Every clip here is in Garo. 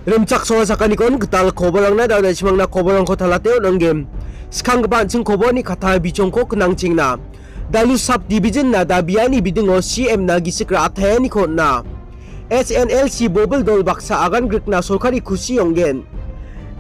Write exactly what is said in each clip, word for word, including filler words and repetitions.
Rimchaksoa sakanikon gital koborangna da·o da·chimangna koborangko talate on·anggen. Skanggipa an·ching koborni katta bichongko knangchengna. Dalu sub division na dabiani bidingo C M na gisik ra·ataeniko on·a. S N L C bobil dol baksa agan grikna sorkari kusi ong·gen.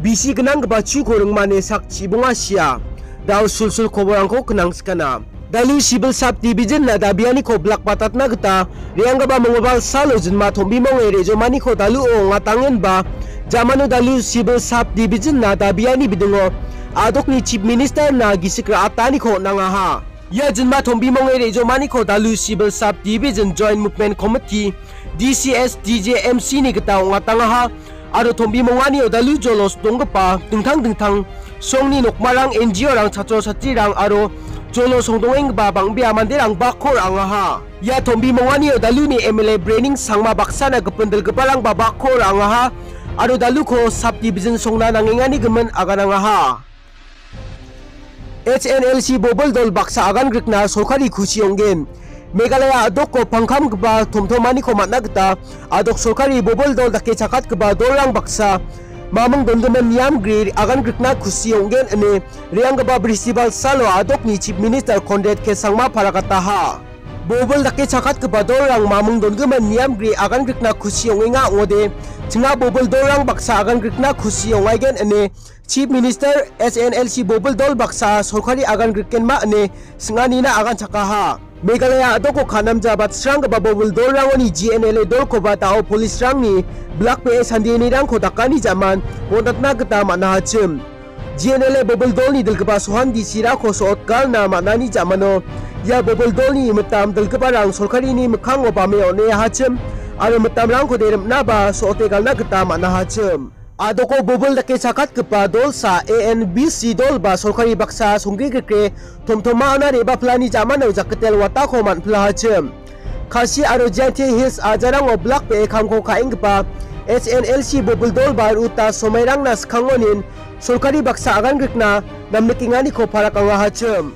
Bisi gnanggipa chuko ringmane sak chibonga sia. Da·o sulsul koborangko knangskana. Dalu civil sub division na dabianiko blak batatna gita re·anggipa mongobal salo jinma tombimonge re·jomaniko daluo ong·atangenba, jamano dalu civil sub division na dabiani bidingo a·dokni chief minister na gisik ra·ataniko on·angaha. Ia jinma tombimonge re·jomaniko dalu civil sub division joint movement committee, D C S, D J M C ni gita ong·atangaha. Aro tombimonganio dalu jolos donggipa dingtang dingtang songni nokmarang, N G O rang, chatro chatrirang aro jolo songdongenggipa bang·bea manderang bakko ra·angaha. Ia tombimonganio daluni M L A Brening Sangma baksana gipin dilgiparangba bakko ra·angaha aro daluko sub division songna nangengani gimin aganangaha. H N L C bobil dol baksa agan grikna sorkari kusi ong·gen. Meghalaya a·doko pangkamgipa tomtomaniko man·a gita a·dok sorkari bobil dol dake chakatgipa dolrang baksa mamung dongimin niamgri agan grikna kusi ong·gen ine re·anggipa Bristibal salo a·dokni Chief Minister Conrad K Sangma paragataha. Bobil dake chakatgipa dolrang mamung dongimin niamgri agan grikna kusi ong·enga ong·ode, chinga bobil dolrang baksa agan grikna kusi ong·aigen ine Chief Minister H N L C bobil dol baksa sorkari agan grikenma ine sing·anina agan chakaha. Meghalaya a·doko kanamja batsranggipa bobil dolrangoni G N L A dolkoba da·o police-rangni blak be·e sandenirangko dakani ja·man bon·atna gita man·ahachim. G N L A bobil dolni dilgipa Sohan D C-rako so·otgalna man·ani ja·mano ia bobil dolni mitam dilgiparang sorkarini mikkango bame on·eahachim aro mitamrangkode rim·naba so·ote galna gita man·ahachim. A·doko bobil dake chakatgipa dolsa A N B C dolba sorkari baksa songgrigrikke tomtomaona re·baplani ja·mano jakkitel watako man·pilahachim. Khasi aro Jaintia Hills ajarango blak be·e kamko ka·enggipa H N L C bobil dolba Ruta Somairangna skangonin sorkari baksa agan grikna namnikenganiko parak angahachim.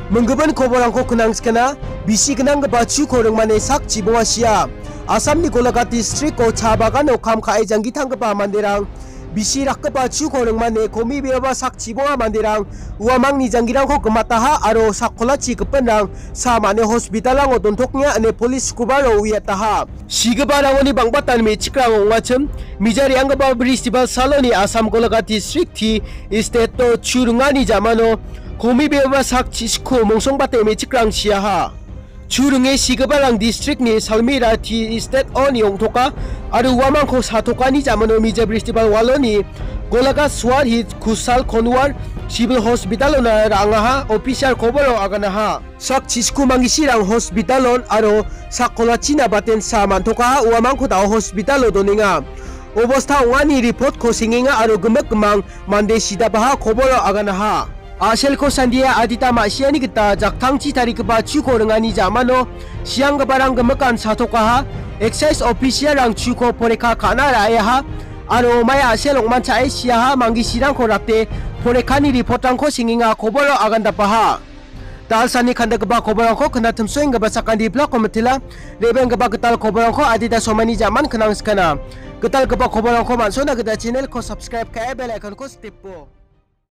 Minggimin koborangko knangskana, bisi gnanggipa chuko ringmane sak chibonga sia. Assamni Golaghat districto cha bagano kam ka·e janggitanggipa manderang bisi rakgipa chuko ringmane komibeaba sak chibonga manderang uamangni janggirangko gimataha aro sak kolachi gipinrang sa mane hospitalango dontoknga ine polis skubaro uiataha. Sigiparangoni bang·batan me·chikrang ong·achim, mija re·anggipa Bristibal saloni Assam Golaghat district-ti estato chu ringani ja·mano komibeaba sak chisiko mongsongbate me·chikrang siaha. Chu ringe sigiparang district-ni Salmira tea estate-oni ong·toka aro uamangko satokani ja·mano mija Bristibal waloni Golaghat Swar Hit Kusal Konwar Civil Hospital-ona ra·angaha, official koboro aganaha. Sak chisku mangisirang hospitalon aro sak kolachina batensa man·tokaha, uamangko da·o hospitalo donenga. Obosta ong·ani report-ko sengenga aro gimik gimang mande sidapaha koboro aganaha. A·selko sandia adita ma·siani gita jaktangchi tarigipa chuko ringani ja·mano sianggiparang gimikan satokaha, excise official-rang chuko poreka ka·na ra·eaha aro omaia a·sel ong·manchae siaha, mangisirangko rate porekani report-rangko sengenga koboro agandapaha. Dalsani kandakgipa koborangko knatimsoenggipa sakantri blakko mitela, rebenggipa gital koborangko adita somaini ja·man knangskana. Gitalgipa koborangko man·sona gita channel-ko subscribe ka·e bell icon-ko stepo.